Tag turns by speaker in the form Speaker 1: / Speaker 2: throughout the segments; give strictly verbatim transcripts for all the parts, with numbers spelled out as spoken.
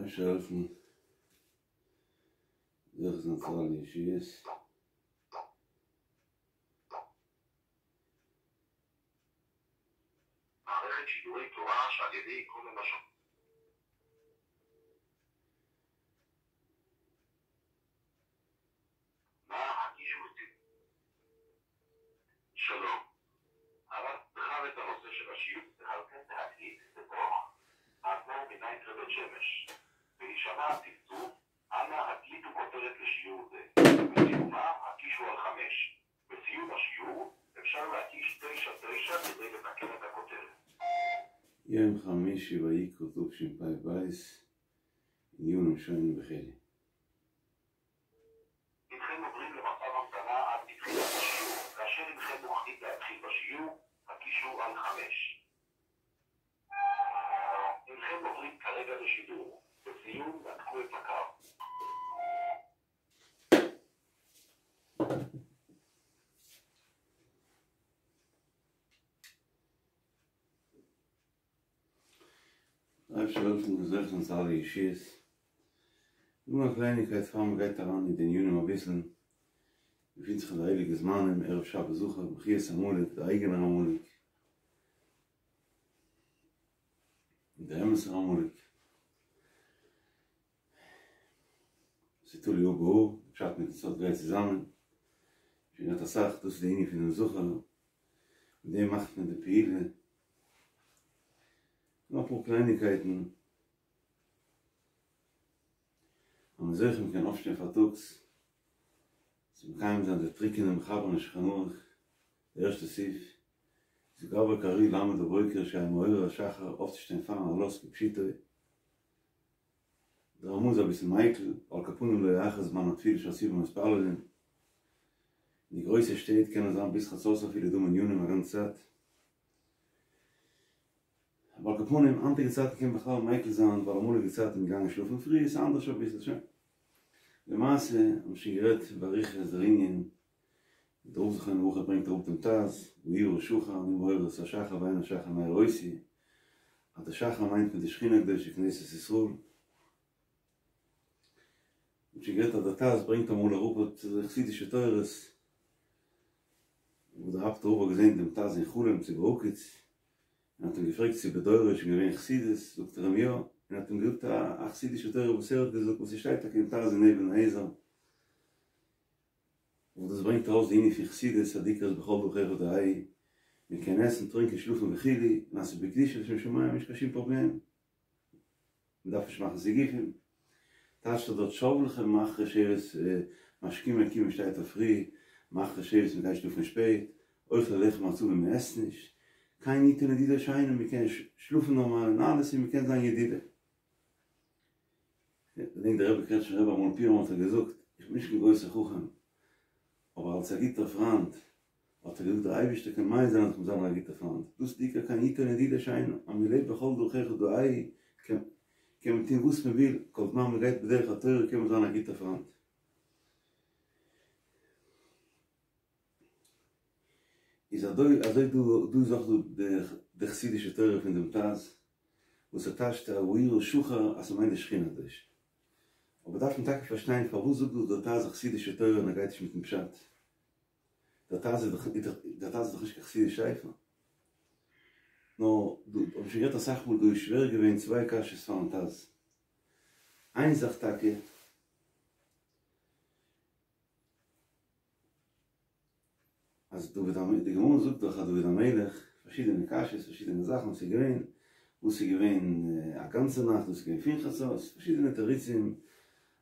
Speaker 1: אפשר העלפן זוכה זיין צו אלע ישועות.
Speaker 2: מערכת שידורי תורה שעל ידי כל הלשון. נא הקישו אותי. שלום. הרב בחר את הנושא של השיעור ועל כן להקליט בתוך האדמו"ר מנייטרא בית שמש. בהישמע הצפצוף, אנא הקליטו כותרת לשיעור זה. בסיומה הקישו על חמש. בסיום השיעור אפשר להקיש תשע תשע כדי לתקן את הכותרת.
Speaker 1: יום חמישי ויקרא תשפ"ב, עיון ראשון בחלי.
Speaker 2: הנכם עוברים למצב המתנה עד לתחילת השיעור. כאשר הנכם מוכנים להתחיל בשיעור, הקישו על חמש. הנכם עוברים כרגע לשידור. בסיום נתקו את הקו.
Speaker 1: אפשר העלפן זוכה זיין צו אלע ישועות. נאר א קלייניקייט פאר מען גייט אריין אין די ענינים אביסל. געפינט זיך אין די הייליגע זמנים, ערב שבת זכור, מחיית עמלק, דער אייגענער עמלק, דער אמת'ער עמלק. ס'איז תלוי הא בהא, פשט מיטן סוד גייט צוזאמען. שוין געהאט אסאך, דאס איז די ענין פונעם זכור, מיט דעם מאכט מען די פעולה. נאר אפאר קלייניקייטן, אז מ'איז זוכה מ'קען אויפשטיין פארטאגס צו מקיים זיין די טרוקענע מחבר אין שולחן ערוך, די ערשטע סעיף, איז גבר כארי לעמוד בבוקר שיהא מעורר השחר, אויפצושטיין פארן עלות כפשוטו. דער רמ"א איז אביסל מיקל, על כל פנים לא יאחר זמן התפילה שהציבור מתפללין. אין די גרויסע שטעט קען עס זיין ביז חצות אפילו דא מניינים א גאנצע צייט. אבער על כל פנים, היינטיגע צייטן קען מען בכלל מיקל זיין, ווייל אמאליגע צייטן איז מען געגאנגען שלאפן פרי, איז אנדערש אביסל, שוין. למעשה, האבן מיר שוין גערעדט באריכות דער ענין, דער רב זכרונו לברכה ברענגט אראפ דעם טז, העירה שחר, אני מעורר את השחר ואין השחר מעיר אותי, אז דער שחר מיינט מען די שכינה הקדושה כנסת ישראל. מ'האט שוין גערעדט אז דער טז ברענגט אמאל אראפ אט די חסידישע תורות, וואס דער אפטער רב האט געזען דעם טז אין חלום צו בהקיץ, און האט אים געפרעגט צו בדורו איז שוין געווען חסידות, זאגט ער אים יא, און האט אים געזאגט א חסידישע תורה וואס ער האט געזאגט וואס ס'שטייט טאקע אין טז אין אבן העזר, וואס דאס ברענגט ארויס די ענין פון חסידות אז די עיקר איז בכל דרכיך דעהו, מען קען עסן טרינקען שלאפן וכו', און אז ס'איז בקדושה לשם שמים נישט קיין שום פראבלעם. מען דארף נישט מאכן סיגופים. טייטשט ער דארט שב לכם מאחרי שבת משכימים און מען שטייט אויף פרי, מאחרי שבת מען גייט שלאפן שפעט, אוכלי לחם עצבים מען עסט נישט, כן יתן לדידו שינה מען קען שלאפן נארמאל און אלעס און מען קען זיין ידידה. געדענק דער רבי קרעטשניפער רבי אמאל פורים האט ער געזאגט, איך בין נישט קיין גרויסער חכם, אבער אלס א גוטער פריינד האט ער געזאגט דער אייבערשטער קען מעיז זיין אז כ'זאל זיין א גוטער פריינד, דאס איז די עיקר כן יתן לדידו שינה, אז מען לעבט בכל דרכיך דעהו, קען מען טון וואס מען וויל, כל זמן מען גייט בדרך התורה קען מען זיין א גוטער פריינד. איז אזוי אזוי דא דא איז אויך דא די חסידישע תורה פון דעם טז וואס ער טייטשט העירה שחר אז ס'מיינט די שכינה הקדושה. אבער דארף מען טאקע פארשטיין פארוואס זאגט דא דער טז א חסידישע תורה און ער גייט נישט מיטן פשט. דער טז איז דאך דער טז איז דאך נישט קיין חסידיש ספר. נאר דא האב איך שוין גערעדט אסאך מאל דא איז שווער געווען צוויי קשיות פארן טז. איין זאך טאקע. אז דוד המלך, די גמרא זאגט דאך אז דוד המלך, פארשידענע קשיות, פארשידענע זאכן וואס איז געווען, וואס איז געווען א גאנצע נאכט, וואס איז געווען פון חצות, פארשידענע תירוצים,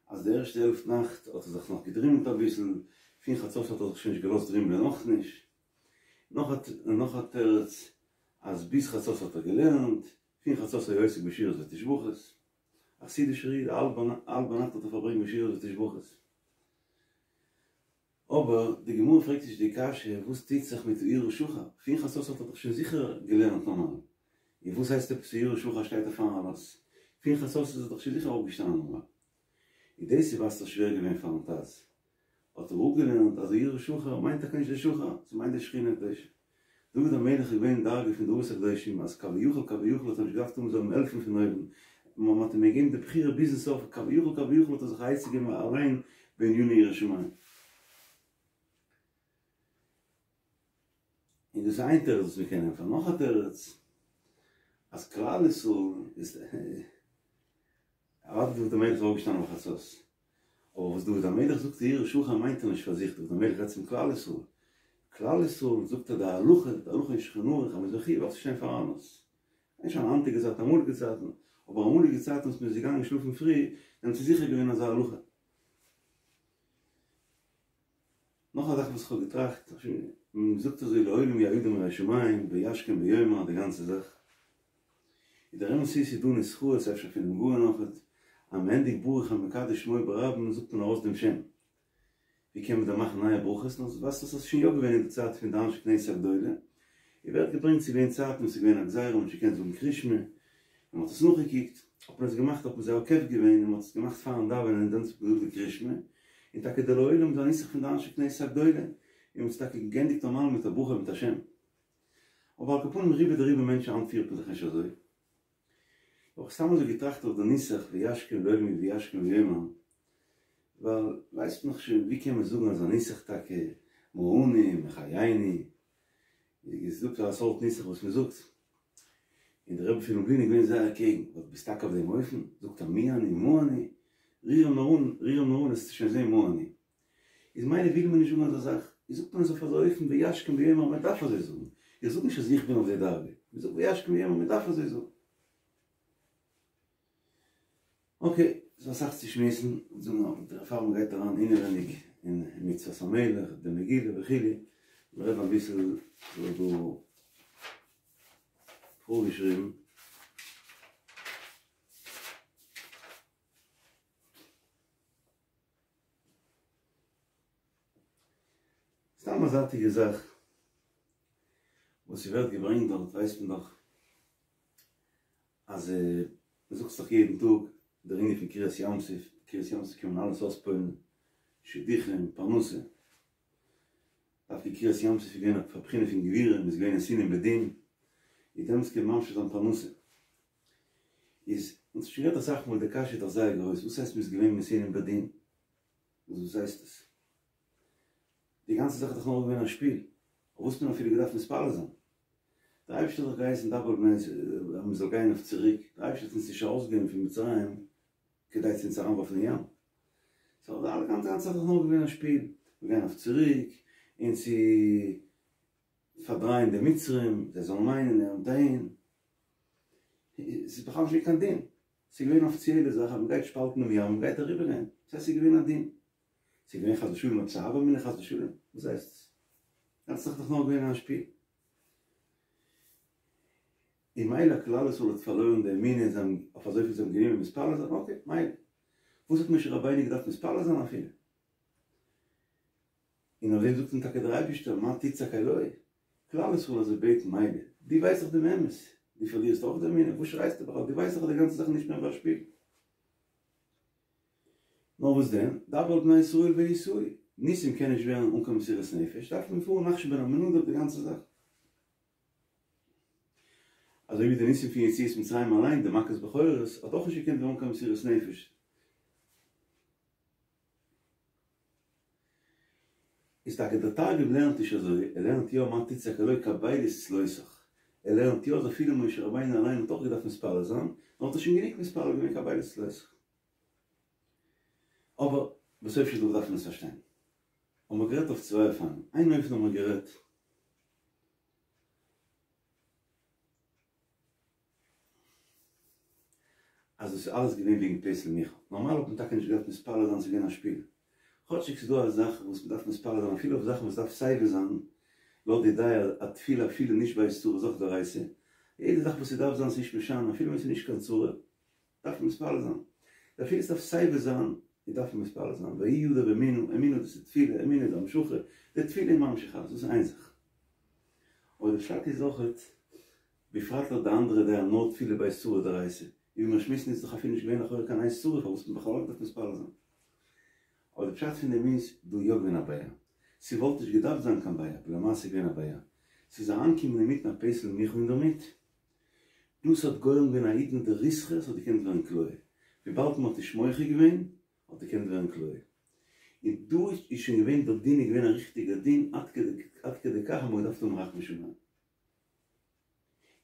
Speaker 1: אז די ערשטע העלפט נאכט האט ער זיך נאך געדרימלט אביסל, פון חצות האט ער זיך שוין נישט געלאזט דרימלען אויך נישט, נאך א נאך א תירוץ, אז ביז חצות האט ער געלערנט, פון חצות היה עוסק בשירות ותשבחות, א חסידישער איד, האלב ביינאכט האט ער פארברענגט בשירות ותשבחות. אבער די גמרא פרעגט נישט די קשיא וואס טוט זיך מיט העירה שחר, פון חצות האט ער דאך שוין זיכער געלערנט נארמאל, און וואס הייסט עפעס העירה שחר שטייט ער פארן עלות, פון חצות איז ער דאך שוין זיכער אויפגעשטאנען נארמאל. און דאס איז ווייזט אויס שווער געווען פארן טז, האט ער אפגעלערנט אז העירה שחר מיינט טאקע נישט די שחר, ס'מיינט די שכינה הקדושה. דוד המלך איז געווען אין דרגה פון די אבות הקדושים אז כביכול כביכול האט ער נישט געדארפט האבן זאל אים העלפן פון אויבן, מען האט אים געגעבן די בחירה ביזן סוף, כביכול כביכול האט ער זיך א עצה געגעבן אליין בעניני יראת שמים. און דאס איז איין תירוץ וואס מען קען ענטפערן, נאך א תירוץ אז כלל ישראל איז אוודאי דוד המלך איז אויפגעשטאנען ביי חצות, אבער וואס דוד המלך זאגט העירה שחר מיינט ער נישט פאר זיך, דוד המלך רעדט צום כלל ישראל, כלל ישראל זאגט ער די הלכה, די הלכה אין שולחן ערוך אז מ'איז מחויב אויפצושטיין פאר עלות, נישט אין היינטיגע צייטן, אמאליגע צייטן, אבער אמאליגע צייטן וואס מ'איז געגאנגען שלאפן פרי, דעמאלטס איז זיכער געווען אזא הלכה. נאך א זאך וואס איך האב געטראכט, מ'זאגט אזוי לעולם יהא אדם ירא שמים וישכים ויאמר די גאנצע זאך, איז דער אמת איז ס'איז דא נוסחאות אפשר פונעם גאון אויכעט, אז מ'ענדיגט ברוך המקדש שמו ברבים זאגט מען ארויס דעם שם. ווי קען מען דען מאכן נייע ברכות? נאר ווייזט אויס אז ס'איז שוין יא געווען אין די צייט פון די אנשי כנסת הגדולה, און ווערט געברענגט ס'איז געווען צייטן וואס ס'איז געווען א גזירה מ'האט נישט געקענט זאגן קריאת שמע, און מ'האט עס נאכגעקוקט, האט מען עס געמאכט האט מען זיי עוקף געווען און מ'האט עס געמאכט פארן דאווענען און דאן האט מען געזאגט די קריאת שמע, און טאקע די לעולם איז א נוסח פון די אנשי כנסת הגדולה, און מ'האט עס טאקע געענדיגט נארמאל מיט א ברכה מיט א שם. אבער על כל פנים רובא דרובא מענטשן היינט פירט מען זיך נישט אזוי. האב איך סתם אזוי געטראכט אויף די נוסח וישכם לעולם וישכם ויאמר, ווייל ווייסט מען דאך שוין ווי קען מען זאגן אזא נוסח טאקע, מה אנו מחיינו, איז דא אזא סארט נוסח וואס מען זאגט, און דער רבי פון לובלין איז געווען זייער קעגן, ווייל ביסט טאקע אויף דעם אופן, זאגט ער מי אני מה אני, ריר אים נאר אן, ריר אים נאר אן וועסטו שוין זען מה אני. איז מילא וויל מען נישט זאגן אזא זאך, איז זאגט מען עס אויף אזא אופן וישכם ויאמר מען דארף אזוי זאגן, איך זאג נישט אז איך בין אויף די דרגה, מען זאגט וישכם ויאמר מען דארף אזוי זאגן. אקעי, ס'איז אסאך צו שמועסן, זאגן נאר פאר מען גייט אריין אינעווייניג אין מצוות המלך, די מגילה וכו', מיר רעדן אביסל ס'איז דא פארגעשריבן. סתם א זייטיגע זאך וואס ס'ווערט געברענגט דארט ווייסט מען דאך אז מ'זאגט דאך יעדן טאג דער ענין פון קריעת ים סוף, קריעת ים סוף קען מען אלעס אויספועל'ן, שידוכים, פרנסה. דווקא קריעת ים סוף איז געווען א בחינה פון גבורה, מ'איז געווען נתונים בדין, און דעמאלטס קען מען ממשיך זיין פרנסה. איז, אונז האט שוין גערעדט אסאך מאל, די קשיא איז דאך זייער גרויס, וואס הייסט מ'איז געווען נתונים בדין? וואס הייסט עס? די גאנצע זאך איז דאך נאר געווען א שפיל, אויף וואס האט מען אפילו געדארפט מתפלל זיין? דער אייבערשטער האט דאך געהייסן דבר אל בני ישראל אז מען זאל גיין אויף צוריק, דער אייבערשטער האט אונז נישט ארויסגענומען פון מצרים כדי צו אונז אריינווארפן אין ים, סאו די אלע גאנצע זאך איז דאך נאר געווען א שפיל, מיר גייען אויף צוריק, און צו פארדרייען די מצרים, זיי זאלן מיינען און אהין, ס'איז בכלל נישט געווען קיין דין, ס'איז געווען א אפיציעלע זאך אז מען גייט שפאלטן דעם ים, מען גייט אריבערגיין, דאס הייסט ס'איז געווען א דין. ס'איז געווען חס ושלום עפעס א הוה אמינא חס ושלום? וואס הייסט עס? גאנצע זאך איז דאך נאר געווען א שפיל. און מילא כלל ישראל האט פארלוירן די אמונה, זיי האבן אויף אזויפיל זיי האבן גענומען מתפלל זיין, אקעי, מילא. וואס האט משה רבינו געדארפט מתפלל זיין אפילו? און אויף דעם זאגט אים טאקע דער אייבערשטער, מה תצעק אלי? כלל ישראל אזוי בעטן מילא, דו ווייסט דאך דעם אמת, דו פארלירסט אויך די אמונה, וואס שרייסטו בכלל, דו ווייסט דאך אז די גאנצע זאך איז נישט מער ווי א שפיל. נאר וואס דען, דבר אל בני ישראל ויסעו, ניסים קען נישט ווערן אן קיין מסירת נפש, דארף מען פארן נחשון בן עמינדב די גאנצע זאך. אזוי ווי די ניסים פון יציאת מצרים אליין, די מכת בכורות, האט אויך נישט געקענט ווערן אן קיין מסירת נפש. איז טאקע דער תרגום לערנט נישט אזוי, ער לערנט יא מה תצעק אלי קבל את צלותך, ער לערנט יא אז אפילו משה רבינו אליין האט אויך געדארפט מתפלל זיין, נאר האט ער שוין גענוג מתפלל געווען קבל את צלותך. אבער בסוף של דבר דארף מען עס פארשטיין. האבן מיר גערעדט אויף צוויי אופנים, איין אופן האבן מיר גערעדט, אז דאס איז אלעס געווען וועגן פסל מיכה. נארמאל האט מען טאקע נישט געדארפט מתפלל זיין, ס'איז געווען א שפיל. כאטשיג ס'איז דא א זאך וואס מ'דארף מתפלל זיין אפילו אויף זאכן וואס דארף סייווי זיין, לויט די דעה אז תפילה אפילו נישט בעת צרה איז אויך דאורייתא. יעדע זאך וואס ס'דארף זיין ס'נישט משנה אפילו ווען ס'איז נישט קיין צרה דארף מען מתפלל זיין. אפילו ס'דארף סייווי זיין איז דארף מען מתפלל זיין. ויהי ידיו אמונה, אמונה דאס איז תפילה, אמונה איז המשכה, די תפילה איז ממשיך אלעס, דאס איז איין זאך. אבער די פשט איז אויכעט, בפרט לויט די אנדערע דעה נאר תפילה בעת צרה דאורייתא, ווי מיר שמועסן איז דאך אפילו נישט געווען לכאורה קיין עת צרה פארוואס האט מען בכלל געדארפט מתפלל זיין. אבער די פשט פון דעם איז דא יא געווען א בעיה. ס'וואלט נישט געדארפט זיין קיין בעיה, אבער למעשה איז געווען א בעיה. ס'איז אריינגעקומען אינמיטן א פסל מיכה אינדערמיט. דאס האט גורם געווען א עידנא דריתחא, ס'האט געקענט ווערן כליה. וויבאלד מ'האט נישט מוחה געווען, האט געקענט ווערן כליה. און דא איז שוין געווען דער דין איז געווען א ריכטיגער דין עד כדי כך אז מ'האט געדארפט האבן רחמי שמים.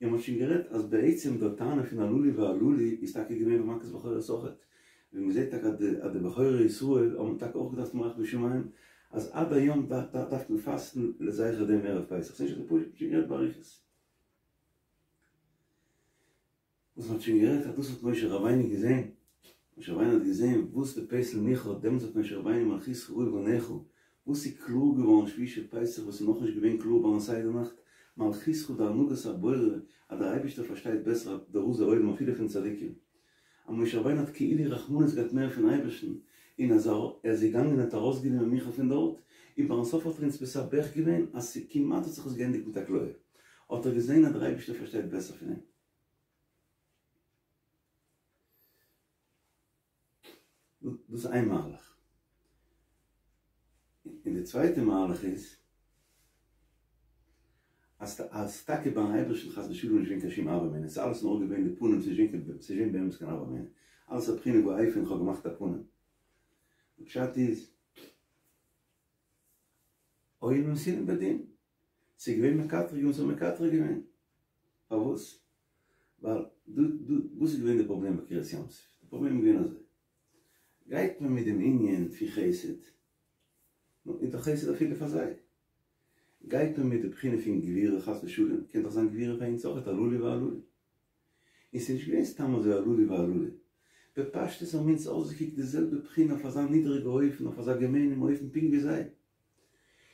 Speaker 1: און מ'האט שוין גערעדט אז בעצם דער טענה פון הללו והללו איז טאקע געווען ביי מכת בכורות אויכעט, ווי מ'זעט טאקע אז די בכורי ישראל האבן טאקע אויך געדארפט האבן רחמי שמים, אז עד היום דארף מען פאסטן לזכר דעם ערב פסח, ס'נישט אזוי פשוט, מ'האט שוין גערעדט באריכות. וואס מ'האט שוין גערעדט אז דאס האט משה רבינו געזען, משה רבינו האט געזען וואס די פסל מיכה האט, דעמאלטס האט משה רבינו מלכותך ראו בניך, וואס איז קלאר געווארן שביעי של פסח וואס איז נאכנישט געווען קלאר ביים סדר נאכט, מלכותך די הנהגת הבורא אז דער אייבערשטער פארשטייט בעסער די רזי עולם אפילו פון צדיקים, אז משה רבינו האט כאילו רחמנות געהאט מער פון אייבערשטן, און אז ער איז געגאנגען און האט ארויסגענומען מיכה פון דארט, און ביים סוף האט ער אונז מסבך געווען אז ס'כמעט האט זיך עס געענדיגט מיט א כליה, האט ער געזען אז דער אייבערשטער פארשטייט בעסער פון אים. דאס איז איין מהלך. און די צווייטע מהלך איז, אז אז טאקע ביים אייבערשטן חס ושלום נישט געווען קיין שום הוה אמינא, ס'איז אלעס נאר געווען די פנים, ס'איז נישט געווען ס'איז נישט געווען באמת קיין הוה אמינא, אלעס א בחינה ואופן איך האב געמאכט א פנים. די פשט איז, היו נתונים בדין, ס'איז געווען מקטרגים וואס האבן מקטרג געווען. פארוואס? ווייל דא דא וואס איז געווען די פראבלעם ביי קריעת ים סוף? די פראבלעם איז געווען אזוי, גייט מען מיט דעם ענין פון חסד, נו איז דאך חסד אפילו פאר זיי. גייט מען מיט די בחינה פון גבורה חס ושלום, קען דאך זיין גבורה פאר אונז אויכעט הללו והללו. און ס'איז נישט געווען סתם אזוי הללו והללו. בפשטות האבן אונז אויסגעקוקט די זעלבע בחינה אויף אזא נידריגע אופן, אויף אזא געמיינעם אופן פונקט ווי זיי.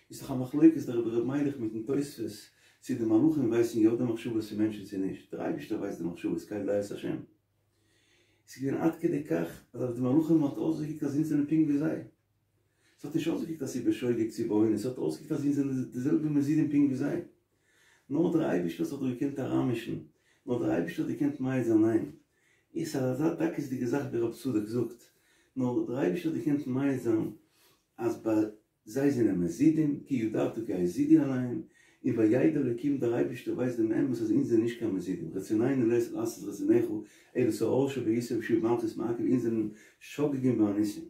Speaker 1: איז דאך א מחלוקת דער רבי ר' מיילעך מיטן תוספות צו די מלאכים ווייסן יא די מחשבות פון מענטשן צו נישט, דער אייבערשטער ווייסט די מחשבות קל דעות השם. ס'איז געווען עד כדי כך אז אויף די מלאכים האט אויסגעקוקט אז אונז זענען פונקט ווי זיי. ס'האט נישט אויסגעקוקט אז ס'איז בשוגג צו באונס, ס'האט אויסגעקוקט אז אונז זענען די זעלבע מזידים פונקט ווי זיי. נאר דער אייבערשטער האט זיך דא געקענט אריינמישן, נאר דער אייבערשטער האט געקענט מעיד זיין ניין, איז אזא דקות'דיגע זאך ווי רב צדוק זאגט, נאר דער אייבערשטער האט געקענט מעיד זיין אז ביי זיי זענען מזידים, כי ידעת כי הזידו עליהם, און וידע אלוקים דער אייבערשטער ווייסט דעם אמת אז אונז זענען נישט קיין מזידים, רצוננו לית לעשות רצונך, אלא שאור שבעיסה ושוב מלכות מעכב, אונז זענען שוגגים ואנוסים.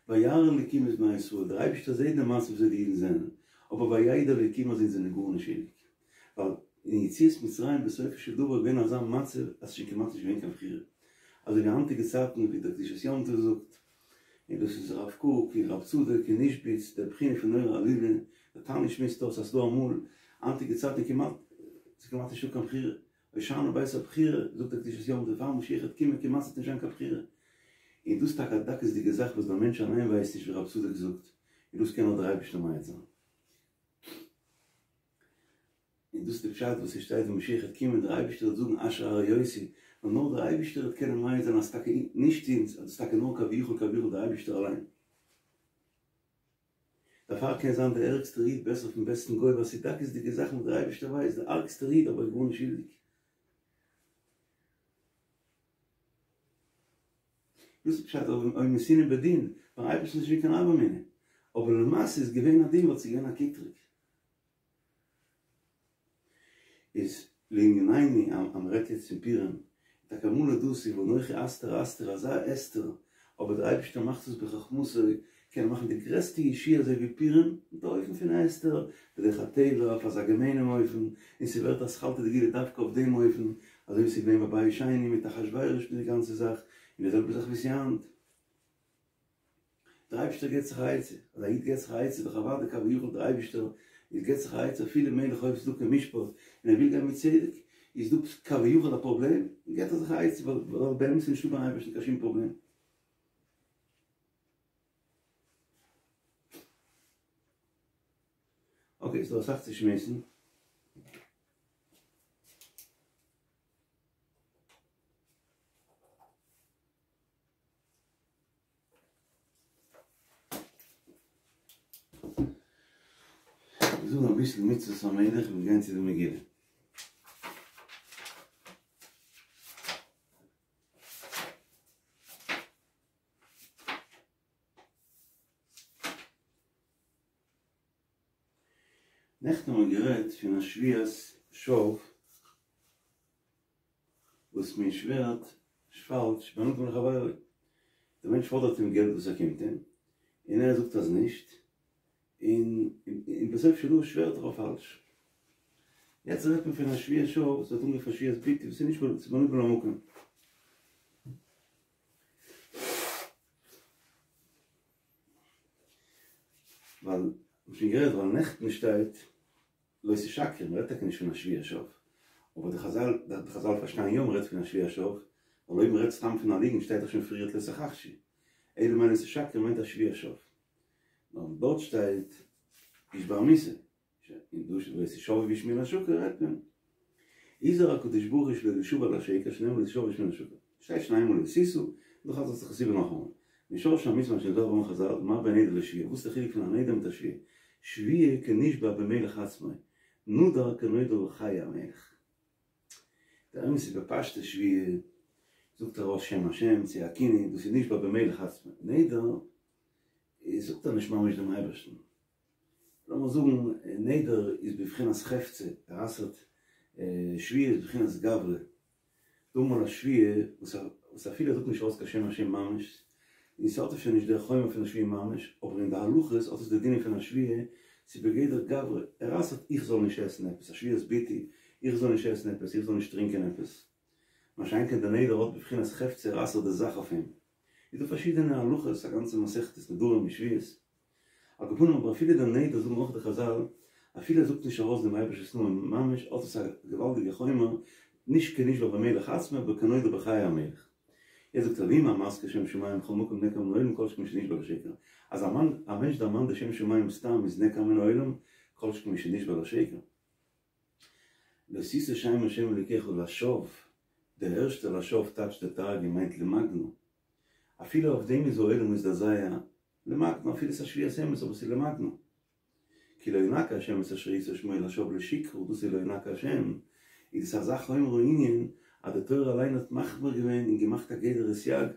Speaker 1: וירא אלוקים את בני ישראל, דער אייבערשטער זעט די מצב וויאזוי די אידן זענען, אבער וידע אלוקים אז אונז זענען גארנישט שולדיג, ווייל אין יציאת מצרים בסופו של דבר איז געווען אזא מצב אז ס'איז שוין כמעט נישט געווען קיין בחירה, אזוי ווי היינטיגע צייטן ווי דער קדושת יום טוב זאגט, און דאס איז הרב קוק און רב צדוק און איזשביץ, דער בחינה פון נורא עלילה, דער תניא שמועסט אויס אז ס'דא אמאל, היינטיגע צייטן כמעט, ס'איז כמעט נישטא קיין בחירה, הושענא בית הבחירה, זאגט דער קדושת יום טוב, פאר משיח וועט קומען כמעט ס'וועט נישט זיין קיין בחירה. און דאס איז טאקע א דקות'דיגע זאך וואס דער מענטש אליין ווייסט נישט ווי רב צדוק זאגט, און דאס קען נאר דער אייבערשטער מעיד זיין. און דאס איז די פשט וואס עס שטייט ווען משיח וועט קומען דער אייבערשטער וועט זאגן אשר הרעותי, ווייל נאר דער אייבערשטער וועט קענען מעיד זיין אז טאקע נישט אונז, אז דאס איז טאקע נאר כביכול כביכול דער אייבערשטער אליין. דערפאר קען זיין דער ערגסטער איד בעסער פון בעסטן גוי ווייל ס'איז דקות'דיגע זאכן וואס דער אייבערשטער ווייסט, דער ארגסטער איד אבער איז גארנישט שולדיג. דאס איז פשט אויב נתינהו בדין, ביים אייבערשטן איז נישט געווען קיין הוה אמינא, אבער למעשה איז געווען א דין ווייל ס'איז געווען א קטרוג. איז לענינינו אז מען רעדט יעצט פון פורים, טאקע אמאל איז דאס ואנכי הסתר אסתיר אזא הסתר, אבער דער אייבערשטער מאכט עס בחכמתו, קען ער מאכן די גרעסטע ישועה אזוי ווי פורים, מיט א אופן פון הסתר, בדרך הטבע, אויף אזא געמיינעם אופן, און ס'ווערט אתחלתא דגאולה דווקא אויף דעם אופן, אזוי ווי ס'איז געווען ביי בית שני מיט אחשורוש מיט די גאנצע זאך, און די זעלבע זאך ווי ס'איז היינט. דער אייבערשטער געבט זיך א עצה, אז א איד געבט זיך א עצה דאך אוודאי כביכול דער אייבערשטער איז געבט זיך א עצה אפילו מלך אוהב צדקה ומשפט און ער וויל גיין מיט צדק, איז דא כביכול א פראבלעם, געבט ער זיך א עצה ווייל באמת איז נישטא ביים אייבערשטן קיין שום פראבלעם. אקעי, ס'דא אסאך צו שמועסן. מיר זאגן אביסל מצוות המלך און מיר גייען צו די מגילה. נעכטן האבן מיר גערעדט פון א שבועת שוא וואס מען שווערט פאלש בין אדם לחבירו, דער מענטש פאדערט אים געלט וואס ער קומט אים, און ער זאגט אז נישט, און און בסוף של דבר שווערט ער אויף פאלש. יעצט רעדט מען פון א שבועת שוא וואס ווערט אנגערופן שבועת ביטוי וואס איז נישט בין אדם למקום. ווייל, מ'האט שוין גערעדט ווייל נעכטן שטייט לא תשקרו, מ'רעדט טאקע נישט פון א שבועת שוא, אבער די חזל די חזל פארשטייען יא מ'רעדט פון א שבועת שוא, ווייל אויב מ'רעדט סתם פון א ליגנט שטייט דאך שוין פריערט לא תכחשו, אלא מאי לא תשקרו מיינט א שבועת שוא. נאר דארט שטייט הושבע מיתה, און דא שטייט לא תשבעו בשמי לשקר רעדט מען. הזהיר הקדוש ברוך הוא שלא לישבע לשקר שנאמר לא תשבעו בשמי לשקר. שטייט שוין איינמאל לא תשא, דא חזר'ט זיך עס איבער נאכאמאל. משרשי המצוה מה שנזהרו בהן חזל, מה בין נדר לשבועה, וואס איז די חילוק פון א נדר מיט א שבועה? שבועה כנשבע במלך עצמו, נדר כנודר בחיי המלך. דער אמת איז בפשטות שבועה זאגט ער ארויס שם השם צו א כינוי, דאס איז נשבע במלך עצמו, נדר זאגט ער נישט ממש דעם אייבערשטן, לאמיר זאגן נדר איז בבחינת חפצא, ער אסר'ט, שבועה איז בבחינת גברא, דא אמאל א שבועה וואס אפילו ער זאגט נישט ארויס קיין שם השם ממש, און ס'האט אפשר נישט דער חומר פון א שבועה ממש, אבער אין די הלכות האט עס די דינים פון א שבועה, ס'איז בגדר גברא, ער אסר'ט איך זאל נישט עסן עפעס, א שבועת ביטוי, איך זאל נישט עסן עפעס, איך זאל נישט טרינקען עפעס. מה שאין כן דער נדר האט בבחינת חפצא, ער אסר'ט די זאך אויף אים. איז דא פארשידענע הלכות, א גאנצע מסכת נדרים און שבועות. על כל פנים אבער אפילו דער נדר זאגן אויך די חזל אפילו ער זאגט נישט ארויס דעם אייבערשטנ'ס נאמען ממש האט עס א געוואלדיגע חומר נישט כנשבע במלך עצמו אבער כנודר בחיי המלך. יעצט זאגט ער ואם המזכיר שם שמים בכל מקום נעקר מן העולם כל שכן משנשבע לשקר אז א מענטש דערמאנט די שם שמים סתם איז נעקר מן העולם כל שכן משנשבע לשקר. לא תשא שם השם אלוקיך לשווא, דער ערשטער לשווא טייטשט דער תרגום מיינט למגנא, אפילו אויף דעם איז העולם מזדעזע, למגנא אפילו ס'איז א שבועת אמת אבער ס'איז למגנא. כי לא ינקה השם את אשר ישא שמו לשווא לשקרא, דאס איז לא ינקה השם, איז עס אזא חומר הענין אז די תורה אליין האט מחמיר געווען און געמאכט א גדר וסייג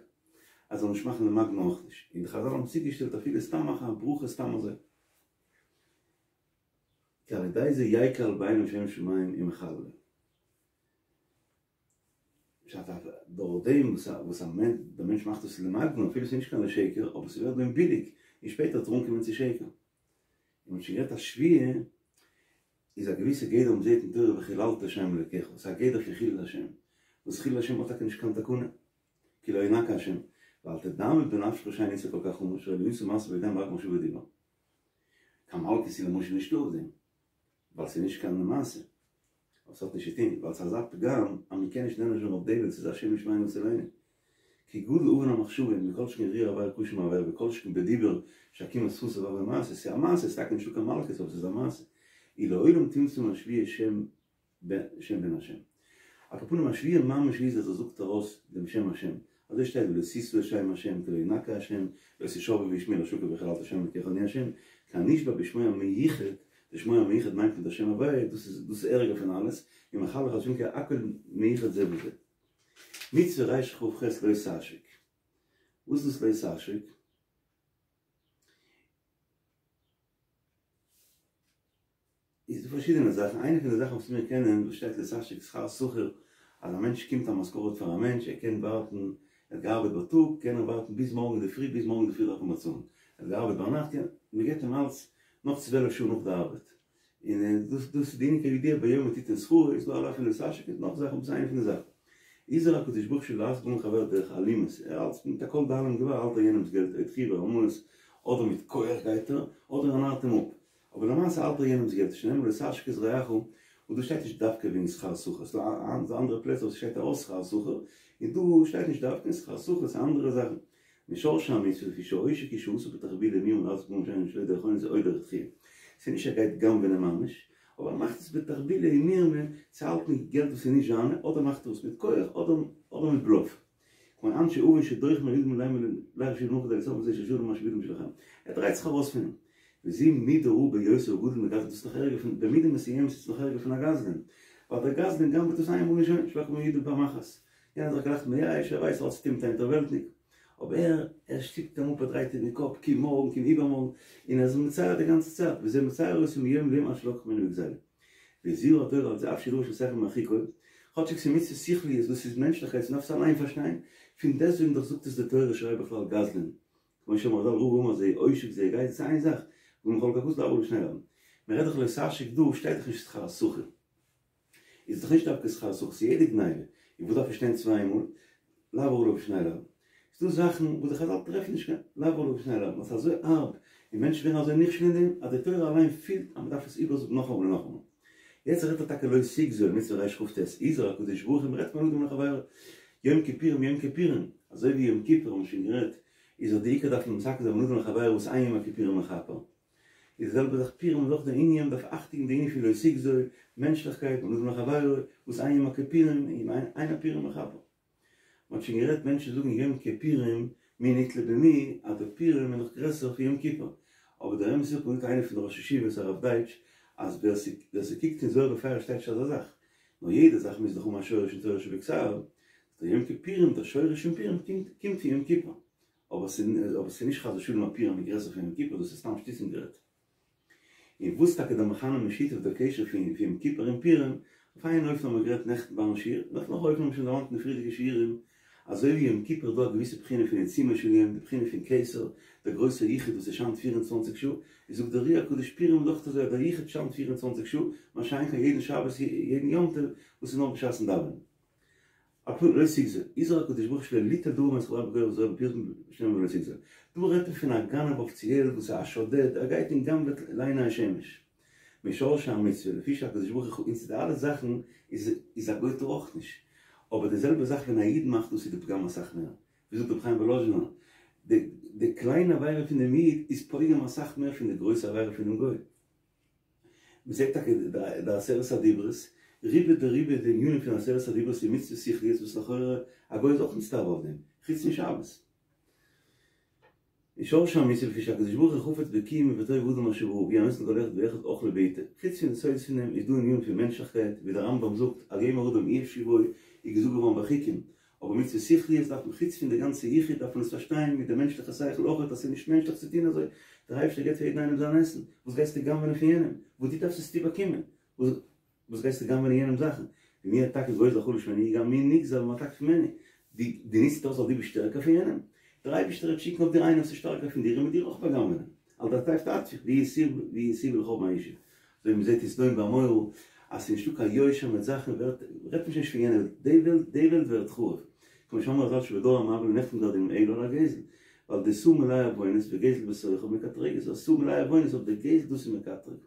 Speaker 1: אז זאל נישט מאכן למגנא אויך נישט, און די חזל האבן צוגעשטעלט אפילו סתם מאכן א ברכה סתם אזוי. כי על ידי זה יקל בעיניו שם שמים ומחללו. פשט אז דורך דעם וואס א מענטש, דער מענטש מאכט עס למגנא אפילו ס'איז נישט קיין לשקר, אבער ס'ווערט ביי אים ביליג, און שפעטער וועט ער אנקומען צו שקר. און מ'האט שוין גערעדט אז שבועה איז א געוויסע גדר מ'זעט אין תורה וחיללת שם אלוקיך, ס'איז א גדר פון חילול השם, וואס חילול השם האט טאקע נישט קיין תקנה, כי לא ינקה השם, ואל תדמה בנפשך שאין איסור כל כך חמור שהרי לא עשה מעשה בידיים רק במחשבה ודיבור. קיין מלקות איז למשל נישטא אויף דעם, ווייל ס'איז נישט קיין מעשה. אבער ס'האט נישט צו טון, ווייל ס'איז אזא פגם אז מ'קען נישט נענש ווערן אויף דעם ווייל ס'איז א שם שמים הצילני. כי גדול עוון המחשבה מכל שכן הרהור עבירה קשה מעבירה וכל שכן בדיבור שעקימת שפתיו הוי מעשה, ס'איז א מעשה, ס'איז טאקע נישטא קיין מלקות אבער ס'איז א מעשה. ולעולם תמצא מן השבועה שם שם בן השם. על כל פנים א שבועה ממש איז אז ער זאגט ארויס דעם שם השם. אזוי שטייט ולא תשא את שם השם כי לא ינקה השם, לא תשבעו בשמי לשקר וחיללת שם אלקיך אני השם, כי הנשבע בשמו המיוחד, די שמו המיוחד מיינט מען דער שם הוויה, דאס איז דאס איז ערגער פון אלעס, ומחללו חס ושלום כי הכל מיוחד זה בזה. מצוה רכ"ח לא תעשוק. וואס איז דאס לא תעשוק? איז דא פארשידענע זאכן, איינע פון די זאכן וואס מיר קענען וואס שטייט לא תעשוק שכר שכיר, אז א מענטש קומט א משכורת פאר א מענטש, ער קען ווארטן, ער האט געארבעט בייטאג, קען ער ווארטן ביז מארגן אינדערפרי, ביז מארגן אינדערפרי דארף מען באצאלן, ער האט געארבעט ביינאכט, קען, מען געבט אים אלץ נאך צוועלף שעה נאך די ארבעט, און דאס דאס איז די ענין כידוע ביום תתן שכרו, איז דא א לאו פון לא תעשוק און נאך זאכן, דאס איז איינע פון די זאכן. הזהיר הקדוש ברוך הוא שלא להשיג ממון חבירו דרך אלימות, ער האלט מיט א כל דאלים גבר האלט ער יענעמס געלט, או דחיה ורמאות, אדער מיט כח גייט ער, אדער ער נארט אים אפ. אבער למעשה האלט ער יענעמס געלט, שנאמר לא תעשוק את רעך, און דא שטייט נישט דווקא וועגן שכר שכיר, ס'דא אנדערע פלעצער וואס ס'שטייט ארויס שכר שכיר, און דא שטייט נישט דווקא שכר שכיר, ס'איז אנדערע זאכן. משרשי המצוה לפי שעושק הוא שעשה בתחבולה ומרמה להשיג ממון שאינו שלו דרך אונס או דרך דחיה. ס'איז נישט ער גייט גנב'נען ממש, אבער ער מאכט עס בתחבולה ומרמה צו האלטן געלט וואס איז נישט זיינע, אדער מאכט ער עס מיט כח אדער מיט בלאף. כמו אנשי און שדוחים על ידם לילה שבעים נאך דער סוף זה ששלום מה שבידם שלכם. ער דרייט זיך ארויס פון אים. וזו מידה רעה ביותר וגדול מגזלן, דאס איז נאך ערגער פון, במידה מסוימת איז עס נאך ערגער פון א גזלן. ווייל דער גזלן גנב'עט עס איינמאל און שוין, שלא מידם פעם אחת. יענער איז זיך גלייך מייאש, ער ווייסט ער האט צוטון מיט א אינטערוועלטניק. אבער ער, ער שטופט אים אפ, ער דרייט אים די קאפ, קום מארגן, קום איבערמארגן, און ער איז מצער די גאנצע צייט, וזה מצער אותו מיום ליום עד שלקח ממנו בגזילה. והזהירה התורה על זה אף שהוא דבר שהשכל מרחיקו, כאטשיג ס'איז מצוות שכליות וואס איז מענטשליכקייט ס'דארף עס אליין פארשטיין, פון דעסטוועגן דאך זאגט עס די תורה שהרי בכלל גזלן, כמו שאמרו חז"ל רבא אמר זה עושק זה גזלן, ס'איז איין זאך, והא חלק הכתוב לעבור עליו בשני לאווין. מ'רעדט דאך לא תעשוק דא שטייט דאך נישט שכר שכיר. איז דאך נישט דווקא שכר שכיר, ס'איז יעדע גניבה, און וואס דארף עס שטיין צוויי מאל? לעבור עליו בשני לאווין. ס'איז דא זאכן וואס די חזל טרעפן נישט קיין לעבור עליו בשני לאווין, ווייל ס'איז אזוי הארב, און מענטשן ווערן אזוי נכשל אין דעם, אז די תורה אליין פילט אז מ'דארף עס איבערזאגן נאכאמאל און נאכאמאל. יעצט רעדט ער טאקע לא תגזול, מצוה רכ"ט, הזהיר הקדוש ברוך הוא, מ'רעדט פון אדם לחבירו, יום כיפורים יום כיפורים, אזוי ווי יום כיפור האבן מיר שוין גערעדט, איז דאך די עיקר דארף מען מתקן זיין בין אדם לחבירו וואס אין יום הכיפורים מכפר. איז די זעלבע זאך פורים איז אויך די ענין, מ'דארף אכטונג די ענין פון לא תגזול, מענטשליכקייט, בין אדם לחבירו, וואס אין יום הכיפורים, אין הפורים מכפר. מ'האט שוין גערעדט מענטשן זאגן יום כיפורים מי נתלה במי אז די פורים איז נאך גרעסער פון יום כיפור, אבער דער אמת איז האט מיר געזאגט איינער פון די ראשי ישיבות הרב דייטש אז ווער ס'קוקט אין זוהר בפירוש שטייט נישט אזא זאך, נאר יעדע זאך מוז דאך האבן א שורש אין תורה שבכתב, דער יום כיפורים דער שורש פון פורים קומט פון יום כיפור, אבער ס'איז נישט חס ושלום אז פורים איז גרעסער פון יום כיפור דאס איז סתם שטותים גערעדט. און וואס טאקע דער מכנה משותף דער קשר פון יום כיפור און פורים, אויף איין אופן האבן מיר גערעדט נעכטן ביים שיעור, און אויף נאך אופן האבן מיר שוין דערמאנט אין די פריערדיגע שיעורים, אזוי ווי יום כיפור איז דא א געוויסע בחינה פון עיצומו של יום, די בחינה פון כתר, דער גרויסער יחוד וואס עס שיינט פֿיר און צוואַנציק שעה, איז זאגט דער אר"י הקדוש פורים איז אויך אזוי אז דער יחוד שיינט פֿיר און צוואַנציק שעה, מה שאין כן יעדן שבת יעדן יום טוב וואס איז נאר בשעת'ן דאווענען. א פ לא תגזול, הזהיר הקדוש ברוך הוא שלא ליטול דבר מאת חברו בכח וזרוע בפרסום שנאמר ולא תגזול. דא רעדט מען פון א גנב אפיציעל וואס איז א שודד, ער גייט און גנב'עט לעיני השמש. משרשי המצוה, לפי שהקדוש ברוך הוא און צו די אלע זאכן איז איז א גוי טאר אויך נישט. אבער די זעלבע זאך ווען א איד מאכט דאס איז די פגם אסאך מער. ווי זאגט רבי חיים וואלאזשינער, די די קליינע עבירה פון דעם איד איז פוגם אסאך מער פון די גרויסע עבירה פונעם גוי. מ'זעט טאקע די עשרת הדיברות, רובא דרובא די ענינים פון עשרת הדיברות איז מצוות שכליות וואס לכאורה א גוי איז אויך נצטווה אויף דעם, חוץ פון שבת. און שורש המצוה לפי שהקדוש ברוך הוא חפץ בקיום ובטוב האדם אשר ברא והוא הנותן לכל אחד ואחד אוכלו בעתו. חוץ פון די סודות פון דעם איז דא ענינים פון מענטשליכקייט, ווי דער רמב"ם זאגט אל יאמר אדם אי אפשי בו איז געזאגט געווארן ביי חוקים, אבער מצוות שכליות דארף מען חוץ פון די גאנצע יחוד דארף מען עס פארשטיין מיט די מענטשליכע שכל אויכעט אז ס'איז נישט מענטשליך צו טון אזוי, דער אייבערשטער געבט פאר יעדן איינעם זיין עסן, וואס גייסטו גנב'נען פון יענעם? וואס דו דארפסט עסטו באקומען? וואס גייסטו גנב'נען יענעמ'ס זאכן? ומי אתה כי גוזל החלש ממנו גם מי נגזל ומתק ממנו? דו נוצט אויס אז דו ביסט שטערקער פון יענעם? דער אייבערשטער וועט שיקן אויף דיר איינעם וואס איז שטארקער פון דיר און וועט דיר אויך בא'גנב'ענען, על דאטפת אטפוך, והוא ישיא ולכאו' מהישב. אזוי ווי מ'זעט אין סדום ועמורה אז ס'איז נישטא קיין יושר מיט זאכן ווערט, רעדט מען שוין נישט פון יענע וועלט, די וועלט, די וועלט ווערט חרוב. כמו שאמרו חז"ל שבדור המבול לא נחתם גזר דינם אלא על הגזל, ווייל דסאה מלא עוונות וגזל בתוכה מקטרגת, אז סאה מלא עוונות אויף די גזל דאס איז מקטרג.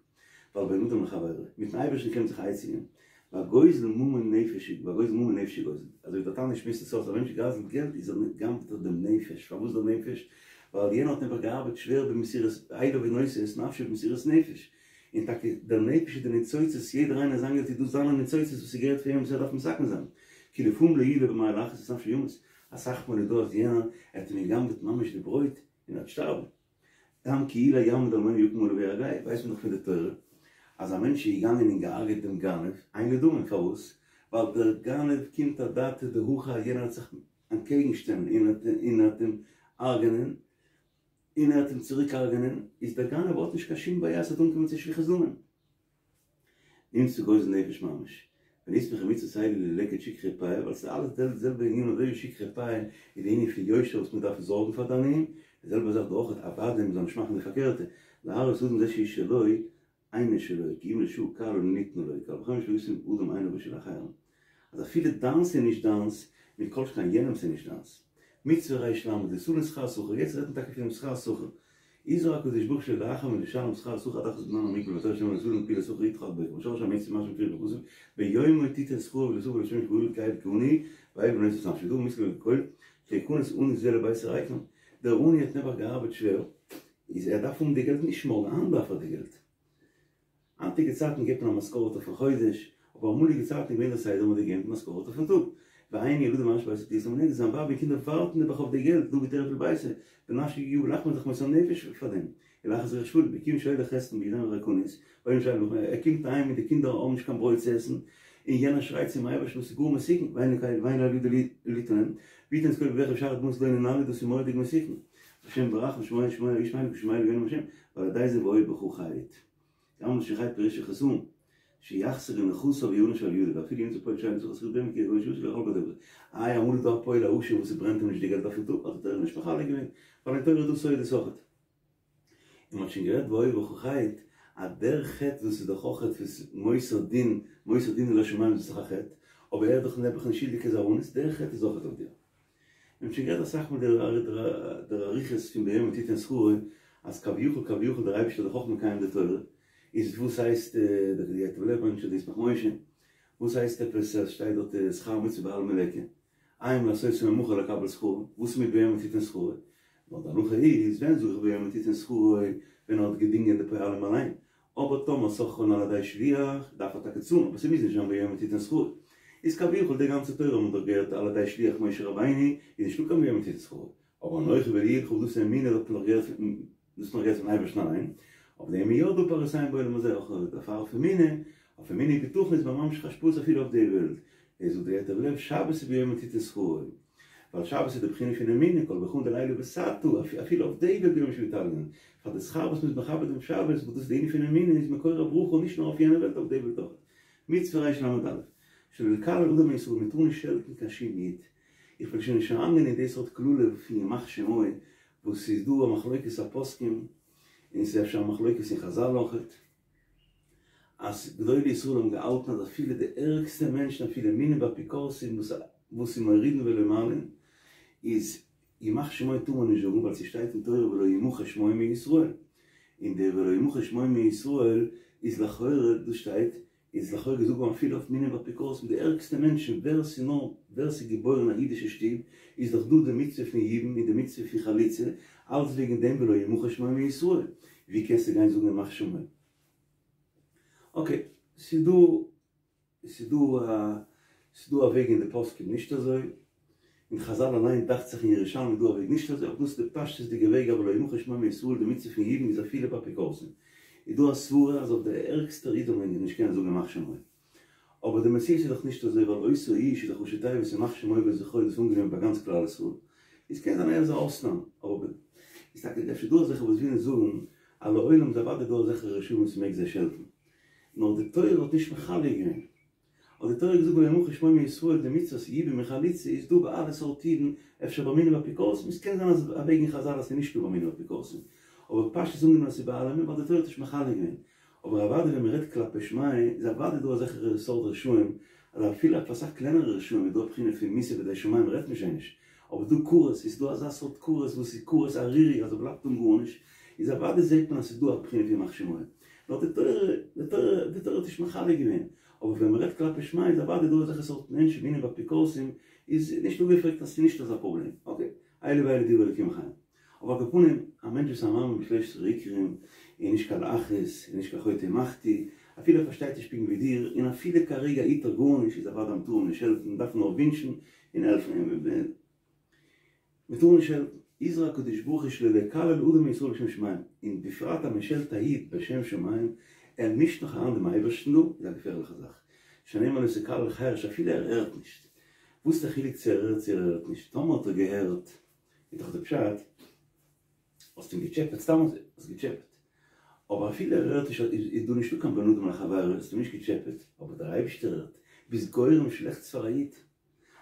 Speaker 1: ווייל בין אדם לחבירו, מיטן אייבערשטן קען מען זיך עצה געבן, והגוזל ממון נפש, והגוזל ממון נפש הוא גוזל, אזוי ווי דער תניא שמועסט עס אויס, א מענטש גזל'ט געלט איז ער גנב'ט ער דעם נפש, פארוואס דער נפש? ווייל יענער האט נעבעך געארבעט שווער במסירות אליו ונושא את נפשו במסירות נפש, און טאקע דער נפש איז די ניצוצות, יעדער איינער זיין געלט איז דאס זיינע ניצוצות וואס ס'געהערט פאר אים וואס ער דארף מתקן זיין, כי לפעמים לא יהיה לו במה להכעיס את נפשו ימות, אסאך מאל איז דא אז יענער האט אים געגנב'ט ממש די ברויט און ער וועט שטארבן. גם כי אולי יעמוד אלמוני ויקום עליו ויהרגהו, ווייסט מען דאך פון די תורה אז א מענטש איז געגאנגען און געהארגעט דעם גנב, אין לו דמים, פארוואס? ווייל דער גנב קומט אדעתא דהכי אז יענער וועט זיך אנטקעגן שטעלן און ער וועט אים הרג'נען, און ער וועט אים צוריק הרג'נען, איז דער גנב האט נישט קיין שום בעיה ס'וועט אנקומען צו שפיכות דמים. נמצא גוזל נפש ממש. ונסמכה מצוות האלה ללקט שכחה ופאה, ווייל ס'איז אלעס די זעלבע ענין אזוי ווי שכחה ופאה איז די ענין פון יושר וואס מ'דארף זארגן פאר די עניים, די זעלבע זאך דא אויך אוודאי מ'זאל נישט מאכן די פארקערטע, להראות לאדם זה שהוא שלו אינו שלו כי אם לשעה קלה ניתנה לו, קל וחומר שלא ישים אדם עיניו בשל אחרים. אז אפילו דיינס איז נישט דיינס, מכל שכן יענעמס איז נישט דיינס. מצוה רי"ל, ליתן שכר שכיר, יעצט רעדט מען טאקע פונעם שכר שכיר. הזהיר הקדוש ברוך הוא שלא לאחר מלשלם שכר שכיר עד אחרית זמן המוגבל בתורה שנאמר לא תלין פעולת שכיר אתך עד בוקר ושורש המצוה מה שמפורש בכתוב ביומו תתן שכרו ולא תבוא לשמש גדול כאב כעני ואב לא נשא נפשו דא מושכל לכל שיכנס עני זה לבית הריקם דער עני האט נעבעך געארבעט שווער איז ער דארף האבן די געלט נישט מארגן היינט דארף ער די געלט היינטיגע צייטן געבט מען א משכורת אויפן חודש, אבער אמאליגע צייטן איז געווען דער סדר מ'האט געגעבן משכורת אויפן טאג. ואין ילדים ואנשי ביתו תלויים מנגד, זיין ווייב און קינדער ווארטן נעבעך אויף די געלט, דא בטרף לביתו, ונפשו יגעה בלחמו איז דאך מוסר נפש פאר דעם, ולאחר זרע שפלים, וכיון שהולך חסרון בידם וריקנית, ואין שייך לח, ער קומט אהיים און די קינדער האבן נישט קיין ברויט צו עסן, און יענער שרייט צום אייבערשטן וואס איז גאר מסוכן, ואין לאל ידו ליתן להם, ויתן את קולו בבכי ושאר דמעות לא ננעלו, דאס איז מורא'דיג מסוכן. השם ברחמים שמוע שמוע ישמענו כי שומע לי השם, ועל ידי זה והיה בך חטא. גם שחי פירוש החסרון, שיחסר נכסיו ויענש על ידו, ואפילו ימצא פועל שאינו צריך לשכור בהמה כי יגון שעושה לאכול בדבר. איי אמאל איז דא א פועל א עשיר וואס ס'ברענט אים נישט די געלט אויפן טאג, האט די תורה נישט מחלק געווען, ווייל אין תורה איז דא סודות אויכעט. און מ'האט שוין גערעדט והיה בך חטא, אז דער חטא וואס איז דאך אויכעט פון מוסר דין, מוסר דין לשמים איז דאך א חטא, אבער ער איז דאך נעבעך נישט שולדיג איז א אונס, דער חטא איז אויכעט אויף דיר. מיר האבן שוין גערעדט אסאך מאל דער אריכות פון ביומו תתן שכרו, אז כביכול כביכול דער אייבערשטער איז דאך אויך מקיים די תורה, איז וואס הייסט דער ייטב לב ברענגט שוין די ישמח משה, וואס הייסט עפעס אז שטייט דארט שכר מצוה בעלמא ליכא, אין לעשותו ממחר לקבל שכרו, וואס איז מיט ביומו תתן שכרו? נאר די הלכה איז, ווען זאג איך ביומו תתן שכרו, ווען ער האט געדינגען די פועלים אליין, אבער טאמער שכרן על ידי שליח, דארף ער טאקע צאלן, אבער ס'מוז נישט זיין ביומו תתן שכרו. איז כביכול די גאנצע תורה האט מען דאך געהערט על ידי שליח משה רבינו, איז נישטא קיין ביומו תתן שכרו. אבער אנכי ולא יהיה לך דאס איז אמונה האט מען דאך געהערט פון דאס האט מען געהערט פון אייבערשטן אליין, אויף דעם איז יא דא פירותיהם בעולם הזה, אויך דערפאר אויף אמונה, אויף אמונה ובטחון איז מען ממשיך השפעות אפילו אויף די וועלט. דאס זאגט דער ייטב לב שבת איז ביומו תתן שכרו. ווייל שבת איז די בחינה פון אמונה, כל היכא דלעילא בתתא, אפילו אויף די וועלט ביום שביתלין, פאר די שכר וואס מ'איז מכבד דעם שבת, וואס דאס איז די ענין פון אמונה, איז מקור הברכה נישט נאר אויף יענע וועלט אויף די וועלט אויך. מצוה רל"א, שלא לקלל אדם מישראל, מ'טאר נישט שעלטן קיין שום איד. איך וועל שוין נישט אריינגיין אין די סארט קללה פון ימח שמו, וואס ס'איז דא א מחלוקת הפוסקים, און ס'איז אפשר א מחלוקת אין חזל אויכעט. אז גדולי ישראל האבן געהאלטן אז אפילו די ערגסטע מענטשן אפילו מינים ואפיקורסים וואס וואס איז מורידין ולא מעלין איז ימח שמו טאר מען נישט זאגן ווייל ס'שטייט אין תורה ולא ימחה שמו מישראל און די ולא ימחה שמו מישראל איז לכאורה דאס שטייט איז לכאורה געזאגט געווארן אפילו אויף מינים ואפיקורסים די ערגסטע מענטשן ווער ס'איז נאר ווער ס'איז געבוירן אין א אידישע שטוב איז דאך דא די מצוה פון יבום און די מצוה פון חליצה אלץ וועגן דעם ולא ימחה שמו מישראל ווי קענסטו גיין זאגן ימח שמו? אקעי, ס'איז דא, ס'איז דא א, ס'איז דא א וועג אין די פוסקים נישט אזוי, אין חזל אליין דאכט זיך אין ירושלמי איז דא א וועג נישט אזוי, אבער דאס איז די פשטות'דיגע וועג אבער לא ימחה שמו מישראל די מצוה פון יבום איז אפילו ביי אפיקורסים. איז דא א סברה אז אויף די ערגסטע איד זאל מען נישט קענען זאגן ימח שמו. אבער די מציאות איז דאך נישט אזוי ווייל אותו האיש איז דאך ראשי תיבות ימח שמו וזכרו דאס אנגענומען ביי גאנץ כלל ישראל. איז קען זיין ער איז א אויסנאם, אבער איז טאקע אפשר דא אזעלכע וואס ווילן זאגן אז לעולם איז אוודאי דא אזעלכע רשעים וואס מ'מעג זיי שעלטן. נאר די תורה האט נישט מחלק געווען. האט די תורה געזאגט ולא ימחה שמו מישראל די מצוות יבום און חליצה איז דא ביי אלע סארט אידן אפשר ביי מינים אפיקורסים עס קען זיין אז א וועג אין חזל אז ס'איז נישטא ביי מינים אפיקורסים אבער פשטות אנגענומען אז ס'איז ביי אלעמען ווייל די תורה האט נישט מחלק געווען אבער אוודאי ווען מ'רעדט כלפי שמיא איז אוודאי דא אזעלכע סארט רשעים אז אפילו אויף אסאך קלענערע רשעים איז דא א בחינה פון מיתה בידי שמים רעדט מען שוין נישט אבער דא כרת איז דא אזא סארט כרת וואס איז כרת ערירי אז ער בלייבט אן גארנישט איז אוודאי זעט מען אז ס'איז דא א בחינה פון ימח שמו נאר די תורה די תורה די תורה האט נישט מחלק געווען אבער ווען מ'רעדט כלפי שמיא איז אוודאי דא אזעלכע סארט מענטשן מינים ואפיקורסים איז נישט אפגעפרעגט אז ס'איז נישט אזא פראבלעם. אקעי, אלו ואלו דברי אלוקים חיים. אבער על כל פנים, א מענטש וואס איז א מאמין בשלושת עשרה עיקרים, איז נישט קיין להכעיס, איז נישט קיין חוטא ומחטיא, אפילו ער פארשטייט נישט פונקט ווי דיר, און אפילו כרגע היט ער גארנישט, איז אוודאי מ'טאר אים נישט שעלטן, מ'דארף נאר ווינטשן און העלפן אים. מען טאר נישט שעלטן, הזהיר הקדוש ברוך הוא שלא לקלל אדם מישראל בשם שמים, און בפרט אז מען שעלט א איד בשם שמים, ער מישט נאך אריין דעם אייבערשטן דא, איז א געפערליכע זאך, שנאמר לא תקלל חרש אפילו ער הערט נישט, וואס איז די חילוק צו ער הערט צו ער הערט נישט, טאמער האט ער געהערט איז דאך די פשט האסט אים געטשעפעט סתם אזוי, האסט געטשעפעט, אבער אפילו ער הערט נישט איז דא נישטא קיין בין אדם לחבירו, האסט אים נישט געטשעפעט, אבער דער אייבערשטער הערט, ביסט גורם שלעכטס פאר א איד.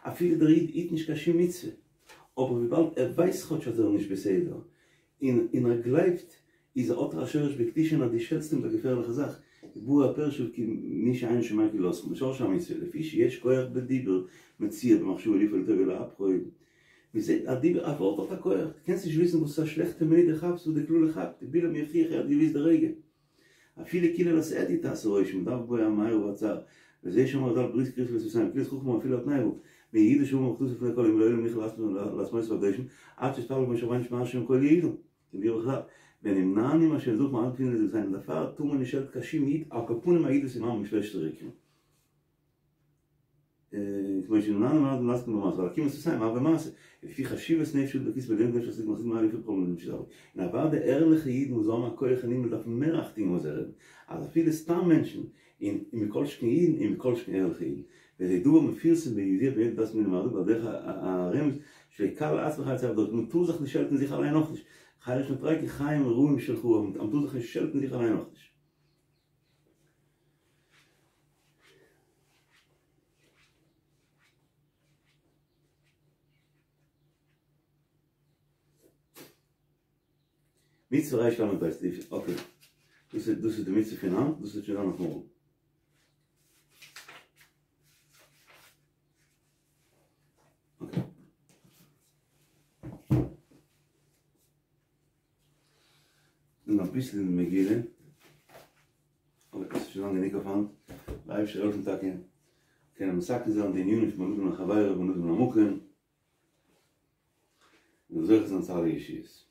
Speaker 1: אפילו דער איד היט נישט קיין שום מצוה, אבער וויבאלד ער ווייסט כאטש אז ער איז נישט בסדר, און און ער גלייבט, איז האט ער א שורש בקדושה און אז דו שעלטסט אים איז א געפערליכע זאך, ובא הפירוש כי מי שאינו שומע קללתך, משורש המצוה, לפי שיש כח בדיבור מצויה במחשבה לפעול לטוב ולהפכו, מען זעט א דיבור א ווארט האט א כח, דו קענסט נישט וויסן וואס א שלעכטע מינוט דו כאפסט וואס די קללה כאפט, בלעם יוכיח ער האט געוויסט די רגע. אפילו קללת הדיוט תעשה רושם, מדארף בו המארה והצער, וזה שאמרו חז"ל ברית כרות בשפתיים, קללת חכם אפילו על תנאי הוא, מיהודה שאמר מחתתו לפני כל העם לעולם יוכל להסמותו בקדושים, עד שהתפלל משה רבינו שמע השם קול יהודה, כמבואר בחז"ל, ונמנענו מהשם יתברך מעט מפני לזקנים, דערפאר טאר מען נישט שעלטן קיין שום איד, על כל פנים א איד וואס איז מאמין בשלושת עיקרים. כמו שנמנענו מעט מלעסוק במעשה, ווייל עקימת שפתיים הוה מעשה, לפי חשיבות נפש האדם בכתבי עליון קדוש עסק מחזיק מעלה יפה בכל מיני שזר. און אוודאי ערליכע אידן וואס האבן א כח אין הימל דארפן מער אכטונג וואס זיי רעדן, אז אפילו סתם מענטשן, און מכל שכן אידן און מכל שכן ערליכע אידן. וזה דבר מפורסם וידוע ביודעי דת מינים הרבים ועל דרך הרמז שלא יקלל עצמו חי צו מען טאר זיך נישט שעלטן זיך אליין אויך נישט, חרש נוטריקון חיים רעים שלך, מען טאר זיך נישט שעלטן זיך אליין אויך נישט. מצוה ריש למד בית, אקעי, דאס איז דאס איז די מצוה פון היינט, דאס וועט שוין זיין אויף מארגן. אקעי. און אביסל אין די מגילה, אבער עס איז שוין לאנג גענוג אויף היינט, דער אייבערשטער זאל העלפן טאקע קענען מתקן זיין די ענינים פון בין אדם לחבירו ובין אדם למקום, און זוכה זיין צו אלע ישועות.